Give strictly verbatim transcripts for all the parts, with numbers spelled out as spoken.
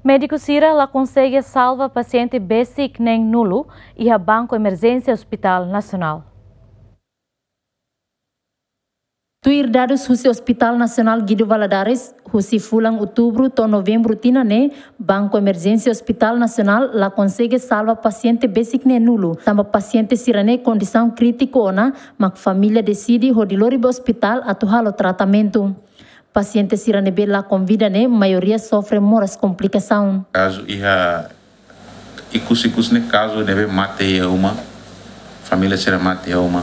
Médiku sira la konsege salva pasiente besik neen nulu iha banku emerjénsia Hospital Nasionál. Tuir dadus husi Hospital Nasionál Guido Valadares, husi fulan Outubru to'o Novembru tinan ne'e, banku emerjénsia Hospital Nasionál la konsege salva pasiente besik neen nulu, tanba pasiente sira-ne'e kondisaun krítiku ona, mak família deside hodi lori ba ospitál atu halo tratamentu. Pasiente sira ne'ebé lakon vida ne'e, maioria sofre moras komplikasaun. Kazu iha ikus-ikus ne'e kazu ne'ebé mate iha uma, família sira mate iha uma,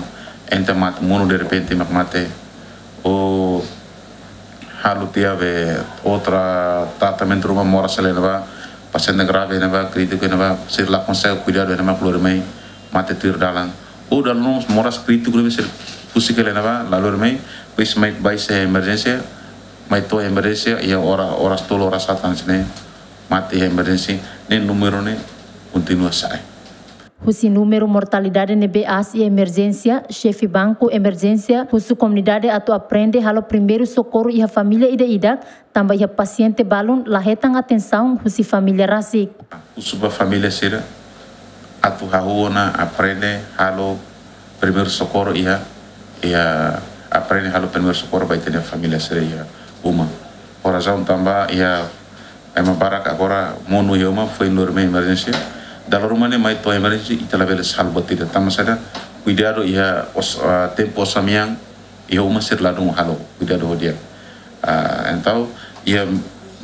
entaun mate monu derrepente mak mate, ou halo tiha be otra tratamentu ruma moras sira ne'ebá, pasiente grave ne'ebá, krítiku ne'ebá, sira la konsege kuidadu ne'e mak lori mai mate tuir dalan. Ou dala ruma moras krítiku ne'ebé sira husik hela ne'ebá, la lori mai, depois mai ba iha emerjénsia, mai to'o emerjénsia, iha ora, oras tolu, oras haat hanesan ne'e, mate iha emerjénsia, ne'e númeru ne'e kontinua sa'e. Husi númeru mortalidade ne'ebé aas iha emerjénsia, xefe banku emerjénsia husu komunidade atu aprende halo primeiru sokorru iha família ida-idak, tanba iha pasiente balun la hetan atensaun husi família rasik. Husu ba família sira atu hahú ona aprende halo primeiru sokorru iha, iha aprende halo primeiru sokorru ba ita-nia família sira iha uma. Ho razaun tanba iha ema barak agora monu iha uma foin lori mai emerjénsia. Dala ruma ne'e mai to'o emerjénsia ita labele salva tiha. Tanba saida? Kuidadu iha os-, ah, tempu osan-mean iha uma sira ladún halo kuidadu ho di'ak. Ah, entaun iha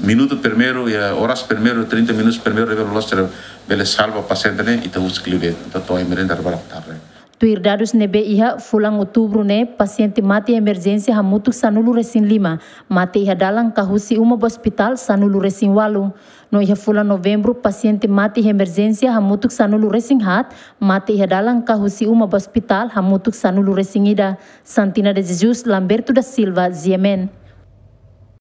minutu primeiru, iha oras primeiru, trinta minutus primeiru, ne'ebé loloos sira bele salva pasiente ne'e, ita husik liu de'it. Entaun to'o emerjénsia dala barak tarde. Tuir dadus ne'ebé iha, fulan Outubru ne'e pasiente mate emerjénsia hamutuk sanulu-resin-lima, mate iha dalan ka husi uma ba ospitál sanulu-resin-ualu. No iha fulan Novembru pasiente mate iha emerjénsia hamutuk sanulu-resin-haat, mate iha dalan ka husi uma ba ospitál hamutuk sanulu-resin-ida. Santina de Jesus, Lamberto da Silva, G M N.